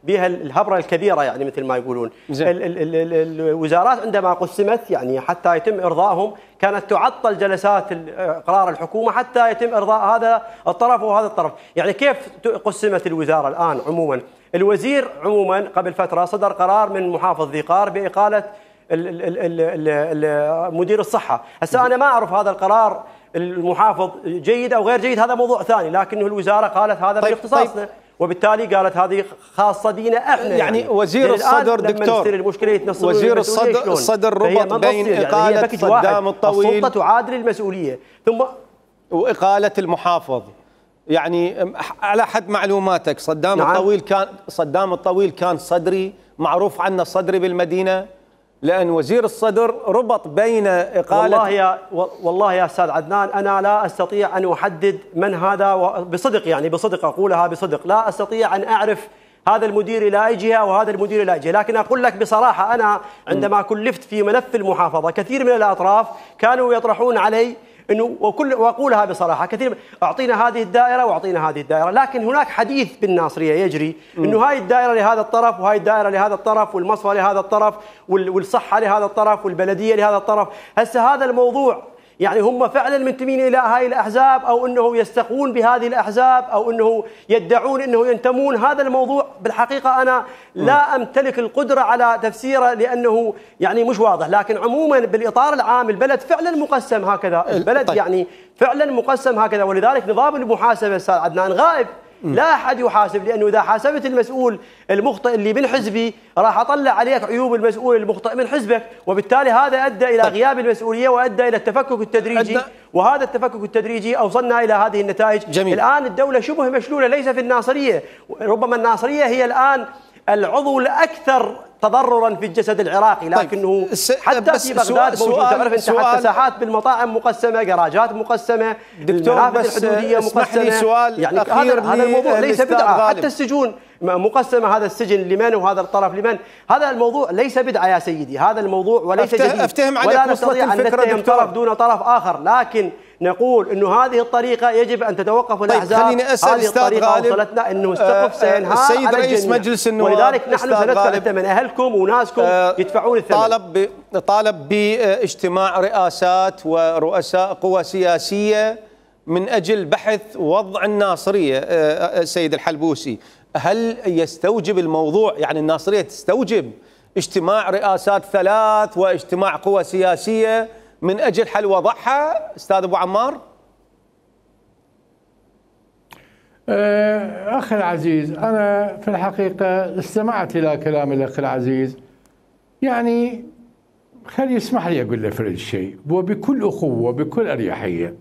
بها الهبرة الكبيرة، يعني مثل ما يقولون. الوزارات عندما قسمت، يعني حتى يتم إرضائهم، كانت تعطل جلسات قرار الحكومة حتى يتم إرضاء هذا الطرف وهذا الطرف. يعني كيف قسمت الوزارة الآن عموما؟ الوزير عموما قبل فترة صدر قرار من محافظ ذي قار بإقالة مدير الصحة. هسه أنا ما أعرف هذا القرار المحافظ جيد أو غير جيد، هذا موضوع ثاني، لكنه الوزارة قالت هذا من اختصاصنا، وبالتالي قالت هذه خاصة بينا احنا. يعني وزير الصدر دكتور، وزير الصدر ربط بين إقالة صدام الطويل، السلطة تعادل المسؤولية، ثم وإقالة المحافظ. يعني على حد معلوماتك صدام الطويل كان صدري، معروف عنه صدري بالمدينة، لأن وزير الصدر ربط بين إقالة. والله يا أستاذ عدنان، أنا لا أستطيع أن أحدد من هذا بصدق، يعني بصدق أقولها بصدق، لا أستطيع أن أعرف هذا المدير إلى أي جهة وهذا المدير إلى أي جهة، لكن أقول لك بصراحة، أنا عندما كلفت في ملف المحافظة، كثير من الأطراف كانوا يطرحون علي انه واقولها بصراحه، كثير اعطينا هذه الدائره واعطينا هذه الدائره، لكن هناك حديث بالناصريه يجري انه هاي الدائره لهذا الطرف وهاي الدائره لهذا الطرف، والمصفى لهذا الطرف، والصحه لهذا الطرف، والبلديه لهذا الطرف. هسه هذا الموضوع، يعني هم فعلا منتمين الى هاي الاحزاب، او انه يستقون بهذه الاحزاب، او انه يدعون انه ينتمون، هذا الموضوع بالحقيقه انا لا امتلك القدره على تفسيره، لانه يعني مش واضح. لكن عموما بالاطار العام البلد فعلا مقسم هكذا، البلد يعني فعلا مقسم هكذا، ولذلك نظام المحاسبه استاذ عدنان غائب. لا أحد يحاسب، لأنه إذا حاسبت المسؤول المخطئ اللي من حزبي راح أطلع عليك عيوب المسؤول المخطئ من حزبك، وبالتالي هذا أدى إلى غياب المسؤولية وأدى إلى التفكك التدريجي، وهذا التفكك التدريجي أوصلنا إلى هذه النتائج. جميل. الآن الدولة شبه مشلولة، ليس في الناصرية، ربما الناصرية هي الآن العضو الأكثر تضررا في الجسد العراقي، لكنه حتى في بغداد موجود. تعرف انت حتى ساحات بالمطاعم مقسمه، جراجات مقسمه، المنافذ الحدوديه مقسمه. يعني هذا الموضوع ليس بدعه، حتى السجون مقسمه، هذا السجن لمن وهذا الطرف لمن، هذا الموضوع ليس بدعه يا سيدي، هذا الموضوع وليس جديد. افتهم عليك، ولا نستطيع ان نتهم طرف دون طرف اخر، لكن نقول انه هذه الطريقه يجب ان تتوقف الاحزاب. خليني اسال هذه الطريقه وصلتنا انه السقف سينهار السيد على رئيس الجميع. مجلس النواب، ولذلك نحن سندفع الثمن، اهلكم وناسكم يدفعون الثمن. طالب باجتماع رئاسات ورؤساء قوى سياسيه من اجل بحث وضع الناصريه. السيد الحلبوسي، هل يستوجب الموضوع، يعني الناصريه تستوجب اجتماع رئاسات 3 واجتماع قوى سياسيه من أجل حل وضعها أستاذ أبو عمار؟ أخي العزيز، أنا في الحقيقة استمعت إلى كلام الأخ العزيز، يعني خلي يسمح لي أقول له فرد شيء وبكل أخوة وبكل أريحية.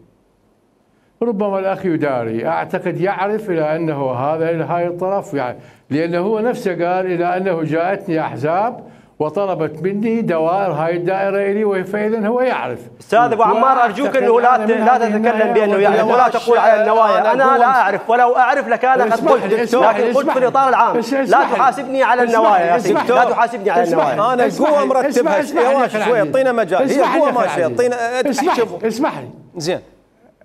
ربما الأخ يداري، أعتقد يعرف إلى أنه هاي الطرف، يعني لأنه هو نفسه قال إلى أنه جاءتني أحزاب وطلبت مني دوائر هاي الدائرة إلي، فإذا هو يعرف. أستاذ أبو عمار أرجوك أنه لا تتكلم بأنه يعرف ولا تقول على النوايا. أنا لا أعرف، ولو أعرف لكان قد قلت، لكن قلت في الإطار العام. لا تحاسبني على النوايا يا سيدي، لا تحاسبني على النوايا. أنا القوة مرتبها شوي، اعطينا مجال، هي قوة ماشية، اعطينا. اسمح لي زين،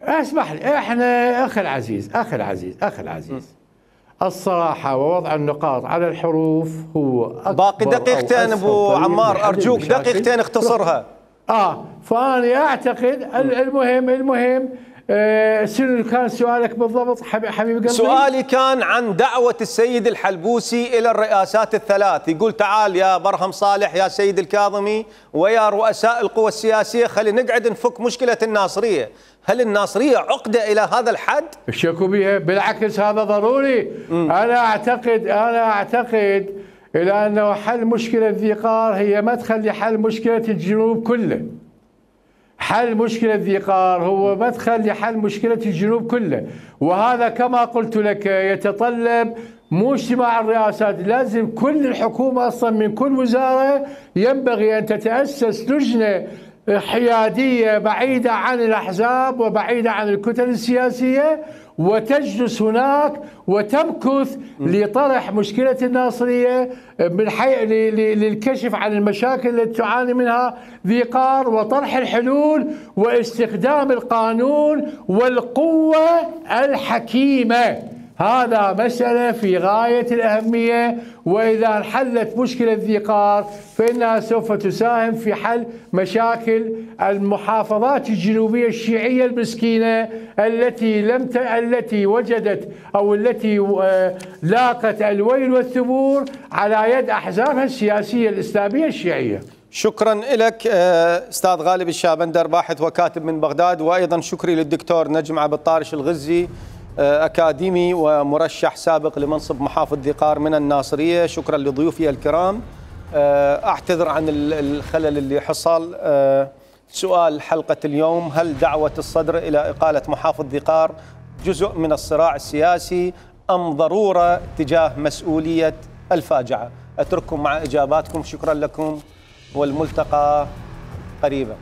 اسمح لي. احنا أخي العزيز الصراحة ووضع النقاط على الحروف هو باقي دقيقتين ابو عمار، ارجوك دقيقتين اختصرها. فأنا اعتقد المهم شنو كان سؤالك بالضبط حبيبي قلبي؟ سؤالي كان عن دعوة السيد الحلبوسي إلى الرئاسات الثلاث، يقول تعال يا برهم صالح يا سيد الكاظمي ويا رؤساء القوى السياسية خلينا نقعد نفك مشكلة الناصرية. هل الناصرية عقدة إلى هذا الحد؟ الشكو بها، بالعكس هذا ضروري. أنا أعتقد إلى أنه حل مشكلة ذي قار هي مدخل لحل مشكلة الجنوب كله. حل مشكلة ذي قار هو مدخل لحل مشكلة الجنوب كله، وهذا كما قلت لك يتطلب مو اجتماع الرئاسات، لازم كل الحكومة أصلا من كل وزارة ينبغي أن تتأسس لجنة حيادية بعيدة عن الأحزاب وبعيدة عن الكتل السياسية، وتجلس هناك وتمكث لطرح مشكلة الناصرية للكشف عن المشاكل التي تعاني منها ذي قار وطرح الحلول واستخدام القانون والقوة الحكيمة. هذا مسألة في غاية الأهمية، وإذا انحلت مشكلة ذي قار فإنها سوف تساهم في حل مشاكل المحافظات الجنوبية الشيعية المسكينة التي وجدت أو التي لاقت الويل والثبور على يد أحزابها السياسية الإسلامية الشيعية. شكرا لك أستاذ غالب الشابندر، باحث وكاتب من بغداد، وأيضا شكري للدكتور نجم عبد الطارش الغزي، أكاديمي ومرشح سابق لمنصب محافظ ذي قار من الناصرية. شكرا لضيوفي الكرام. أعتذر عن الخلل اللي حصل. سؤال حلقة اليوم: هل دعوة الصدر إلى إقالة محافظ ذي قار جزء من الصراع السياسي أم ضرورة تجاه مسؤولية الفاجعة؟ أترككم مع إجاباتكم. شكرا لكم والملتقى قريبا.